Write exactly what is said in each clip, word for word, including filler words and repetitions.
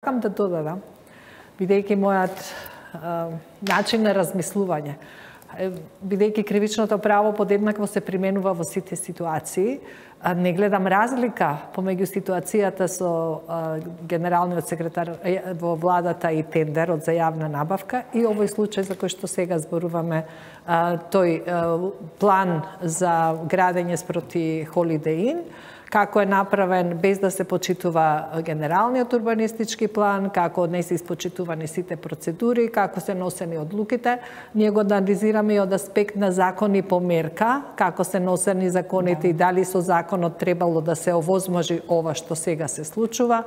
Сакам да додадам, бидејќи мојат а, начин на размислување, бидејќи кривичното право подеднакво се применува во сите ситуации, а, не гледам разлика помеѓу ситуацијата со а, генералниот секретар во владата и тендерот за јавна набавка и овој случај за кој што сега зборуваме, а, тој а, план за градење спроти Holiday Inn, како е направен без да се почитува генералниот урбанистички план, како не се испочитувани сите процедури, како се носени одлуките. Ние го анализираме и од аспект на закони по мерка, како се носени законите и дали со законот требало да се овозможи ова што сега се случува.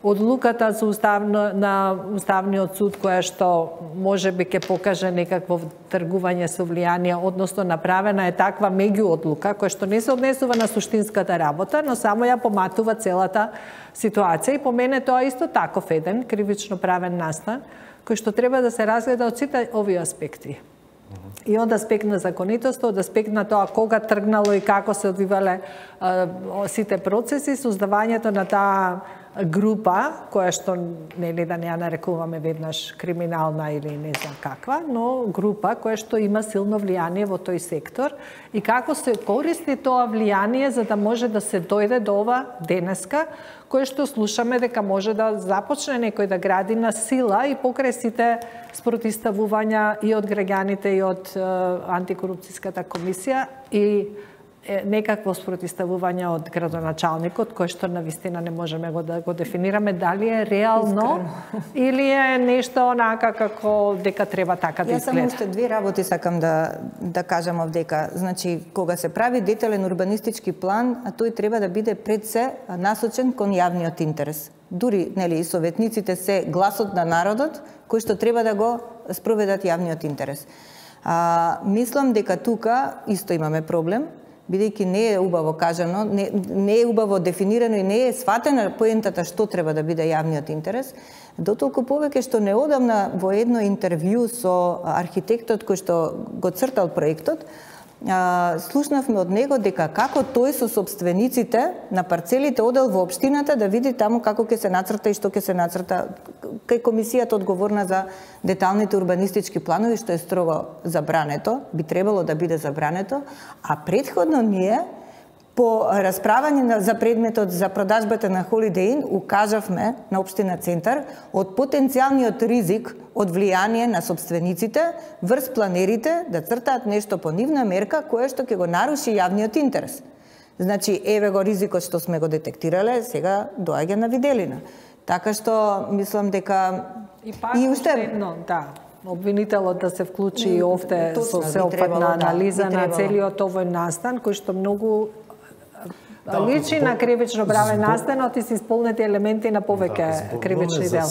Одлуката за уставно, на Уставниот суд, која што можеби ќе покаже некакво тргување со влијание, односно направена е таква меѓуодлука, која што не се однесува на суштинската работа, но само ја поматува целата ситуација. И по мене тоа исто таков еден кривично правен настан, кој што треба да се разгледа од сите овие аспекти. И од аспект на законитост, од аспект на тоа кога тргнало и како се одвивале а, сите процеси, создавањето на таа група, која што нели да не ја нарекуваме веднаш криминална или не знам каква, но група која што има силно влијание во тој сектор и како се користи тоа влијание за да може да се дојде до ова денеска, кое што слушаме дека може да започне некој да гради на сила и покрај сите спротиставувања и од граѓаните и од антикорупцијската комисија и некакво спротиставување од градоначалникот, кој што навистина не можеме го да го дефинираме дали е реално Искрено. Или е нешто онака како дека треба така да изгледа. Јас само уште две работи сакам да да кажам овдека. Значи, кога се прави детален урбанистички план, а тој треба да биде пред се насочен кон јавниот интерес. Дури, нели, и советниците се гласот на народот, кој што треба да го спроведат јавниот интерес. А, мислам дека тука исто имаме проблем, бидејќи не е убаво кажано, не, не е убаво дефинирано и не е сватена поентата што треба да биде јавниот интерес, дотолку повеќе што неодамна во едно интервју со архитектот кој што го цртал проектот, а, слушнавме од него дека како тој со собствениците на парцелите одел во општината да види таму како ќе се нацрта и што ќе се нацрта кај комисијата одговорна за деталните урбанистички планови, што е строго забрането, би требало да биде забрането, а претходно ние по расправање за предметот за продажбата на Holiday Inn укажавме на општина Центар од потенцијалниот ризик од влијание на собствениците врз планерите да цртаат нешто по нивна мерка кое што ќе го наруши јавниот интерес. Значи, еве го ризикот што сме го детектирале, сега доаѓа на виделина. Така што мислам дека и пак и уште едно, да, обвинителот да се вклучи и овде со сеопфатна анализа да, на целиот овој настан кој што многу да, личи на кривично правен настанот и се исполнети елементи на повеќе да, кривични дела.